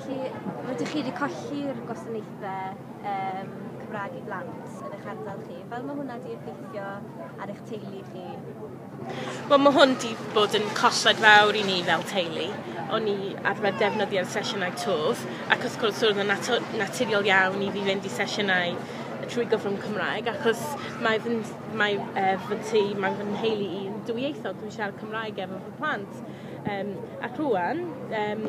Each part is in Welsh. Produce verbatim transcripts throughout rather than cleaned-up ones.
Felly, rydych chi wedi colli'r gwasanaethau um, Cymraeg i blant yn eich ardal chi. Fel mae hwnna wedi effeithio ar eich teulu chi? Wel, mae hwn wedi bod yn colled fawr i ni fel teulu. O'n i arfer defnyddio'r sesiynau Twf, ac wrth gwrs oedd yn naturiol iawn i fi fynd i sesiynau trwy gyfrwng Cymraeg, achos mae fy, mae, uh, fy tŷ, mae fy nheulu i yn dwyieithog, dwi'n siarad Cymraeg efo fy plant. Um, ac rwan, um,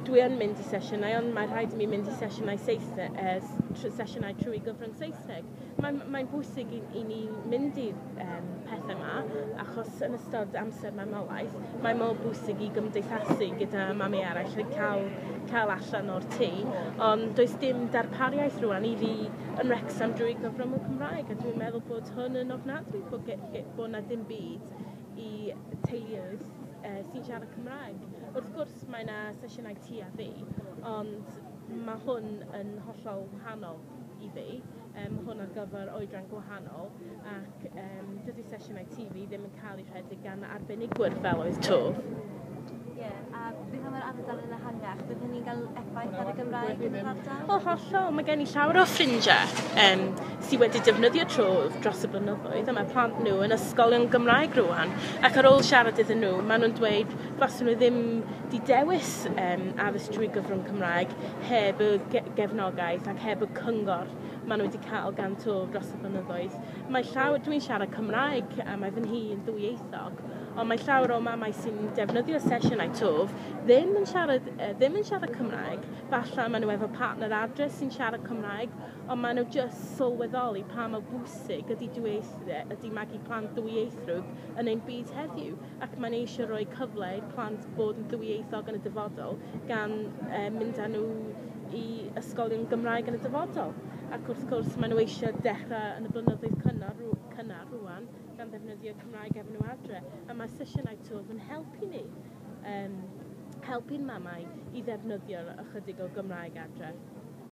dwi yn mynd i sesiynau, ond mae rhaid i mi mynd i sesiynau Saesneg, uh, sesiynau trwy gyfrwng Saesneg. Mae'n mae bwysig i, i ni mynd i'r um, pethau yma, achos yn ystod amser mamolaeth, mae mor bwysig i gymdeithasu gyda mami eraill a cael, cael allan o'r tŷ, ond does dim darpariaeth rwan i fi yn Wrexham drwy gyfrwng y Cymraeg, a dwi'n meddwl bod hwn yn ofnadwy, bod, bod na dim byd i teuluoedd uh, sy'n siarad Cymraeg. Wrth gwrs mae yna sesiynau ti a fi, ond mae hwn yn hollol wahanol i fi. Um, mae hwn ar gyfer oedran gwahanol, ac um, dydy sesiynau T V ddim yn cael ei rhedeg gan arbenigwyr fel oedd Twf. Ie, yeah, a beth am yr ardal yn ehangach? Bydd hynny'n cael effaith ar y Gymraeg yn yr ardal? O, hollol. Mae gen i llawer o ffrindiau um, sydd wedi defnyddio Twf dros y blynyddoedd, a mae plant nhw yn ysgolion Gymraeg rwan. Ac ar ôl siarad iddyn nhw, maen nhw'n dweud faswn nhw ddim di dewis um, addysg trwy gyfrwng Cymraeg heb y ge gefnogaeth ac heb y cyngor maen nhw wedi cael gan Twf dros y blynyddoedd. Mae llawer, dwi'n siarad Cymraeg a mae fy nhŷ yn ddwyieithog, ond mae llawer o mamau sy'n defnyddio sesiynau Twf ddim yn siarad, ddim yn siarad Cymraeg. Falle maen nhw efo partner adre sy'n siarad Cymraeg, ond maen nhw just sylweddoli pa mor bwysig ydy, ydy magu plant ddwyieithrwg yn ein byd heddiw. Ac mae'n eisiau rhoi cyfle i'r plant bod yn ddwyieithog yn y dyfodol gan eh, mynd â nhw i ysgolion Gymraeg yn y dyfodol. Ac wrth gwrs maen nhw eisiau dechrau yn y blynyddoedd cynnar, cynnar rwan gan ddefnyddio Cymraeg efo nhw adre. A mae sesiynau Twf yn helpu ni, um, helpu'n mamau i ddefnyddio ychydig o Gymraeg adre.